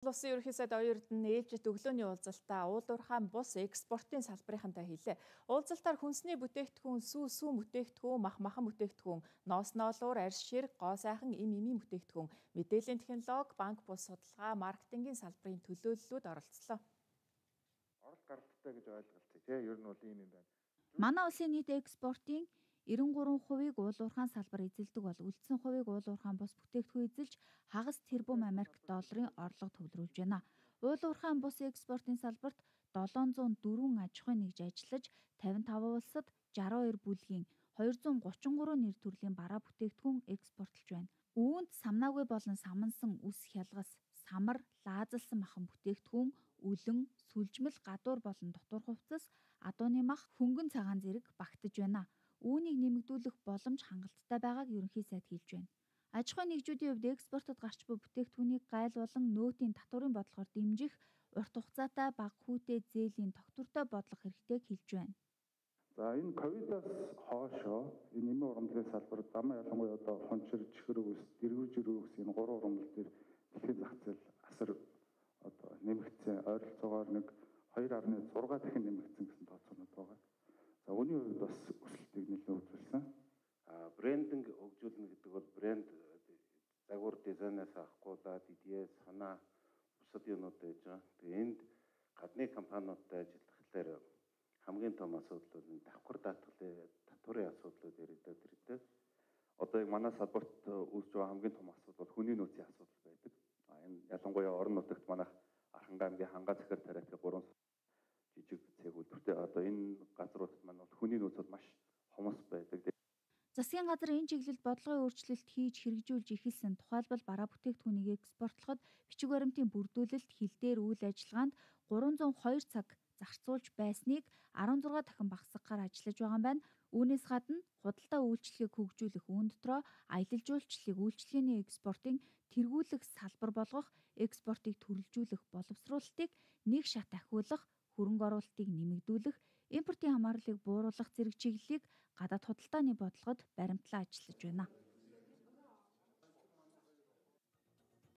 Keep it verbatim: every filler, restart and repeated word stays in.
Улсын ерөнхий сайд оюун эрдэнэ ээлжит өглөөний уулзалтаа уулуурхайн бус экспортын салбарынхантай хэлээ. Уулзалтаар хүнсний бүтээгдэхүүн, сүү сүү бүтээгдэхүүн, мах махан бүтээгдэхүүн, ноос ноолуур, арьс ширэг, гоо сайхан, эм эмийн бүтээгдэхүүн, мэдээллийн технологи, банк бус судалгаа, маркетингийн салбарын төлөөллүүд оролцлоо. Орол гардтай гэж ойлголцъя тий. Ер нь бол ийм юм байна. Манай улсын нийт экспортын эрен гурван хувийг уулуурхайн салбар эзэлдэг бол үлдсэн хувийг уулуурхайн бус бүтээгдэхүүн эзэлж хагас тэрбум Америк долларын орлого төвлөрүүлж байна. Уулуурхайн бус экспортын салбарт долоон зуун дөрвөн аж ахуйн нэгж ажиллаж тавин таван улсад жаруу хоёр бүлгийн хоёр зуун гучин гурван нэр төрлийн бараа бүтээгдэхүүн экспортлж байна. Үүнд самнаагүй болон самансан үс хялгас, самар, лаазалсан махан бүтээгдэхүүн, үлэн, сүлжмэл, гадуур болон дотор хувцас, адууны мах, хөнгөн цагаан зэрэг багтаж байна. Үүнийг нэмэгдүүлэх боломж хангалттай байгааг ерөнхий сайд хэлж байна. Аж ахуйн нэгжүүдийн хувьд экспортод гарч буй бүтээгдэхүүнийг gaйл болон нөөтийн татварын бодлогоор дэмжих, урт хугацаатай бага хүүтэй зээлийн тогтвортой бодлого хэрэгтэйг хэлж байна. За энэ ковидоос хоошоо энэ нэмийн урамлалын салбар дамаа ялангуяа одоо хончир, чихэр өвс, дэрвэр жирүү өвс энэ гурван урамлал дээр дэлхийн зах зээл асар одоо нэмэгдсэн, ойролцоогоор нэг хоёр гаруй зураг дахин нэмэгдсэн гэсэн тооцоонууд байгаа. За үүний хувьд бас өсөлтийг нэлээд үзүүлсэн. А брендинг хөгжүүлнэ гэдэг бол брэнд загвар дизайнаас авахгүйдаа ди ди эс, санаа бусад юмнууд байж байгаа. Тэгээ энд гадны компаниудтай ажиллахлаар хамгийн том асуудал бол энэ давхар даатгалын татварын асуудлууд яригдаад ирдэг. Одоо яг манай салбарт үүсэж байгаа хамгийн том асуудал бол хүний нөөцийн асуудал байдаг. А энэ ялангуяа орон нутагт манайх Архангай аймгийн Хангаа захир тариатын гурван жижиг цэг үйлдвэртэй одоо энэ газруудад маань бол хүний нөөц бол маш хомос байдаг. Засгийн газар энэ чиглэлд бодлогын өөрчлөлт хийж хэрэгжүүлж эхэлсэн. Тухайлбал бараа бүтээгдэхүүнийг экспортлоход бичиг баримтын бүрдүүлэлт, хил дээр үйл ажиллагаанд гурван зуун и хоёр цаг зарцуулж байсныг арван зургаан дахин багасгахаар ажиллаж байгаа юм байна. Үүнээс гадна худалдаа үйлчлэгийг хөгжүүлэх, үүн дотроо аялал жуулчлалыг үйлчлэгээний экспортын тэргүүлэх салбар болгох, экспортыг төрөлжүүлэх боловсруулалтыг нэг шат ахиулах, хөрөнгө оруулалтыг нэмэгдүүлэх, импортын хамаарлыг бууруулах зэрэг чиглэлийг гадаад худалдааны бодлогод баримтлан ажиллаж байна.